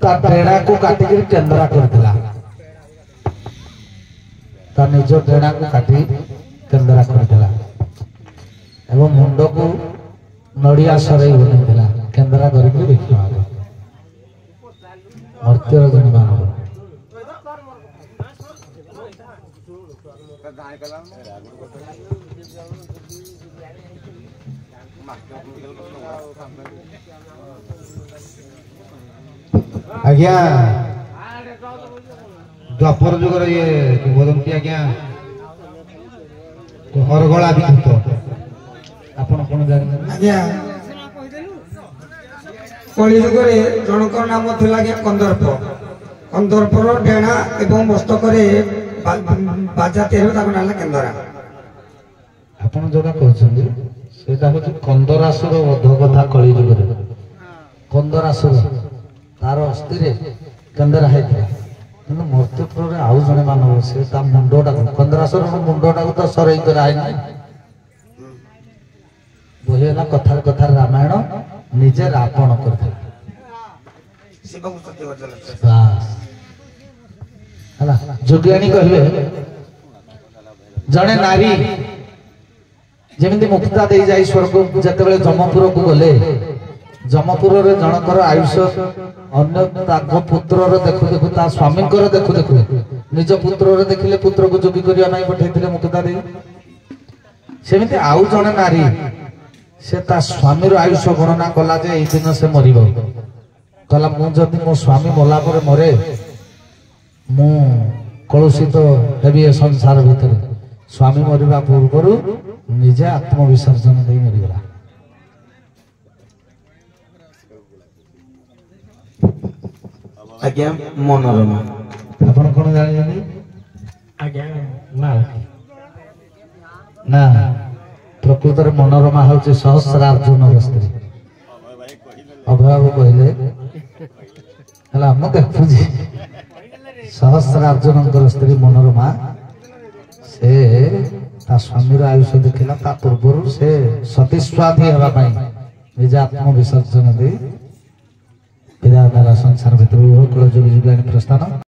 ତା ଡେଣାକୁ କାଟିକିରି କେନ୍ଦ୍ରା କରିଥିଲା। ତା ନିଜ ଡେଣାକୁ କାଟି କେନ୍ଦ୍ରା କରିଥିଲା ଏବଂ ମୁଣ୍ଡକୁ ନଡ଼ିଆ ସରେଇ ବନେଇଥିଲା, କେନ୍ଦ୍ରା କରିକି ଭିକ୍ଷା ମାଗେ। ମର୍ତ୍ତ୍ୟର ଜଣେ ମାନବ। ଆଜ୍ଞା, ଦ୍ୱାପର ଯୁଗର ଇଏ କିମ୍ବଦନ୍ତୀ ଆଜ୍ଞା, ଅରଗଳା ବିଦ୍ୟୁତ। ଆପଣ କଣ ଜାଣିଛନ୍ତି? ଆଜ୍ଞା, କଳି ଯୁଗରେ ଜଣଙ୍କର ନାମ ଥିଲା ଆଜ୍ଞା କନ୍ଦର୍ପ। କନ୍ଦର୍ପର ଡେଣା ଏବଂ ମସ୍ତକରେ ବାଜା ତିଆରି ହୁଏ, ତାକୁ ନାଁ ହେଲା କେନ୍ଦରା। ଆପଣ ଯୋଉଟା କହୁଛନ୍ତି ସେଇଟା ହଉଛି କନ୍ଦରାସୁର ବଧ କଥା। କଳି ଯୁଗରେ କନ୍ଦରାସୁର, ତାର ଅସ୍ଥିରେ କେନ୍ଦରା ହେଇଥିଲା। କିନ୍ତୁ ମର୍ତ୍ତ୍ୟପୁରରେ ଆଉ ଜଣେ ମାନବ, ସେ ତା ମୁଣ୍ଡଟାକୁ, କନ୍ଦରାସୁରର ମୁଣ୍ଡଟାକୁ ତ ସରେଇ କରାହେଇନି। ବହି ହେଲା କଥାରେ କଥାରେ ରାମାୟଣ, ନିଜେ ରାବଣ କରିଥିଲା। ଶିବଙ୍କୁ ସ୍ତୁତି କରିଥିଲେ। ବାସ୍ ହେଲା। ଯୋଗିଆଣୀ କହିବେ, ଜଣେ ନାରୀ ଯେମିତି ମୁକ୍ତା ଦେଇ ଯାଇ ସ୍ୱର୍ଗ, ଯେତେବେଳେ ଯମପୁରକୁ ଗଲେ, ଯମପୁରରେ ଜଣଙ୍କର ଆୟୁଷ ଅନ୍ୟ ତାଙ୍କ ପୁତ୍ରର ଦେଖୁ ଦେଖୁ, ତା ସ୍ୱାମୀଙ୍କର ଦେଖୁ ଦେଖୁ, ନିଜ ପୁତ୍ରର ଦେଖିଲେ ପୁତ୍ରକୁ ଯୋଗୀ କରିବା ପାଇଁ ପଠେଇଥିଲେ ମୁକ୍ତା ଦେଇ। ସେମିତି ଆଉ ଜଣେ ନାରୀ, ସେ ତା ସ୍ୱାମୀର ଆୟୁଷ ଗଣନା କଲା ଯେ ଏଇ ଦିନ ସେ ମରିବ। କହିଲା, ମୁଁ ଯଦି ମୋ ସ୍ୱାମୀ ମଲା ପରେ ମରେ, ମୁଁ କଳୁଷିତ ହେବି ଏ ସଂସାର ଭିତରେ। ସ୍ୱାମୀ ମରିବା ପୂର୍ବରୁ ନିଜେ ଆତ୍ମବିସର୍ଜନ ଦେଇ ମରିଗଲା। ଆଜ୍ଞା, ମନୋରମା। ଆପଣ କଣ ଜାଣିଛନ୍ତି? ଆଜ୍ଞା, ମାଳତୀ। ନା, ପ୍ରକୃତରେ ମନୋରମା ହଉଛି ସହସ୍ରାର୍ଜୁନର ସ୍ତ୍ରୀ। ଅଭୟବାବୁ କହିଲେ ହେଲା, ମୁଁ ଦେଖୁଛି। ସହସ୍ରାର୍ଜୁନଙ୍କର ସ୍ତ୍ରୀ ମନୋରମା, ସେ ତା ସ୍ୱାମୀର ଆୟୁଷ ଦେଖିଲା, ତା ପୂର୍ବରୁ ସେ ସତୀସ୍ୱାଧୀ ହେବା ପାଇଁ ନିଜ ଆତ୍ମବିସର୍ଜନ ଦେଇ ବିଦାୟ ନେଲା ସଂସାର ଭିତରୁ। କୁଳ ଯୋଗୀ ଯୁଗାଣୀ ପ୍ରସ୍ଥାନ।